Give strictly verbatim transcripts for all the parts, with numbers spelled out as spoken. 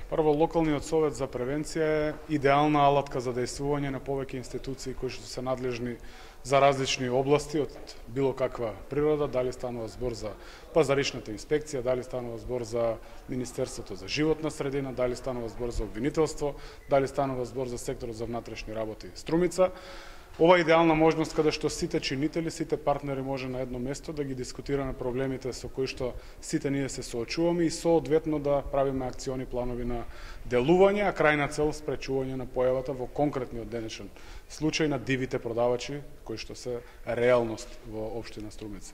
Прво, локалниот совет за превенција е идеална алатка за дејствување на повеќе институции кои што се надлежни за различни области од било каква природа, дали станува збор за пазаришната инспекција, дали станува збор за Министерството за животна средина, дали станува збор за обвинителство, дали станува збор за секторот за внатрешни работи Струмица. Ова е идеална можност каде што сите чинители, сите партнери може на едно место да ги дискутираме проблемите со кои што сите ние се соочуваме и соодветно да правиме акциони планови на делување, а крајна цел спречување на појавата во конкретниот денешен случај на дивите продавачи кои што се реалност во општина Струмица.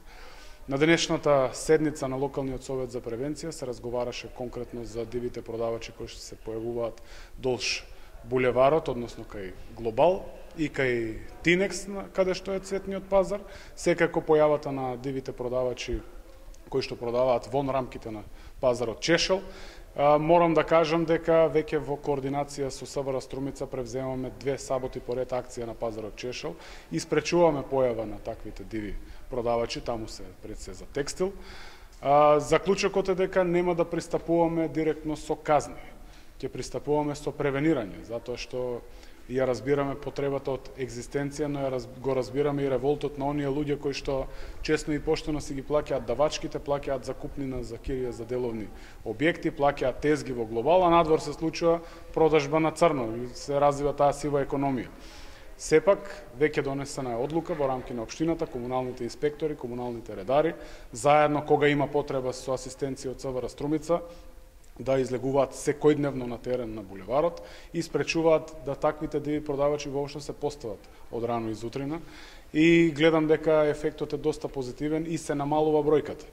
На денешната седница на локалниот совет за превенција се разговараше конкретно за дивите продавачи кои што се појавуваат долж булеварот, односно кај Глобал и кај Тинекс, каде што е цветниот пазар, секако појавата на дивите продавачи кои што продаваат вон рамките на пазарот Чешел. Морам да кажам дека веќе во координација со СВР Струмица превземаме две саботи поред акција на пазарот Чешел и спречуваме појава на таквите диви продавачи, таму се пред се за текстил. Заклучокот е дека нема да пристапуваме директно со казни. Ќе пристапуваме со превенирање, затоа што ја разбираме потребата од екзистенција, но ја го разбираме и револтот на оние луѓе кои што честно и поштено си ги плаќаат давачките, плаќаат закупнина за кирија за деловни објекти, плаќаат тезги во Глобал, а надвор се случува продажба на црно и се развива таа сива економија. Сепак, веќе донесена е одлука во рамки на општината, комуналните инспектори, комуналните редари, заедно кога има потреба со асистенција од СВР Струмица, да излегуваат секојдневно на терен на булеварот и спречуваат да таквите диви продавачи воопшто се постават од рано изутрина и гледам дека ефектот е доста позитивен и се намалува бројката.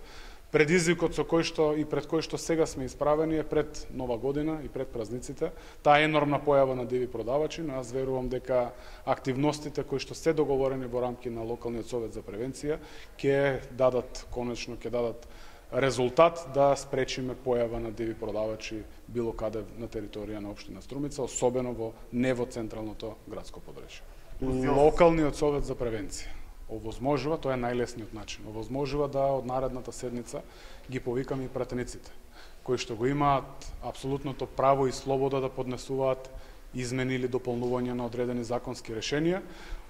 Предизвикот со кој што и пред кој што сега сме исправени е пред Нова година и пред празниците, таа енормна појава на диви продавачи, но јас верувам дека активностите кои што се договорени во рамки на локалниот совет за превенција ќе дадат конечно ќе дадат резултат да спречиме појава на диви продавачи било каде на територија на општина Струмица, особено во не во централното градско подречје. Локалниот совет за превенција овозможува, тоа е најлесниот начин, овозможува да од наредната седница ги повикаме и пратениците, кои што го имаат апсолутното право и слобода да поднесуваат измени или дополнување на одредени законски решенија,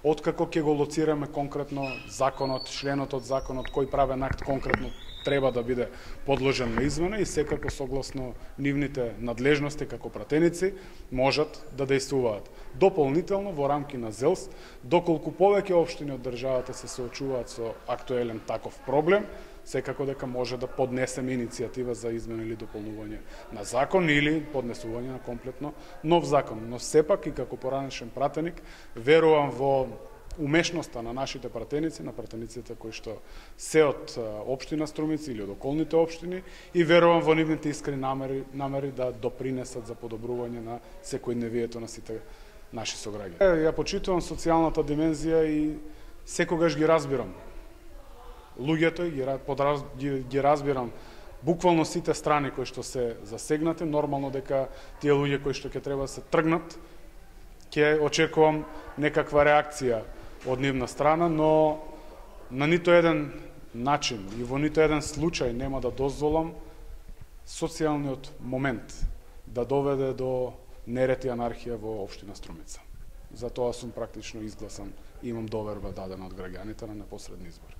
откако ќе го лоцираме конкретно законот, членот од законот, кој правен акт конкретно треба да биде подложен на измена и секако согласно нивните надлежности како пратеници можат да дејствуваат. Дополнително во рамки на ЗЕЛС, доколку повеќе општини од државата се соочуваат со актуелен таков проблем, секако дека може да поднесеме иницијатива за измена или дополнување на закон или поднесување на комплетно нов закон. Но сепак и како поранешен пратеник верувам во умешноста на нашите пратеници, на пратениците кои што се од општина Струмица или од околните општини и верувам во нивните искрени намери, намери да допринесат за подобрување на секојдневието на сите наши сограѓани. Ја почитувам социјалната димензија и секогаш ги разбирам луѓето и ги, ги разбирам буквално сите страни кои што се засегнати. Нормално дека тие луѓе кои што ќе треба да се тргнат, ќе очекувам некаква реакција од нивна страна, но на нито еден начин и во нито еден случај нема да дозволам социјалниот момент да доведе до неред и анархија во општина Струмица. Затоа сум практично изгласан и имам доверба дадена од граѓаните на непосредни избори.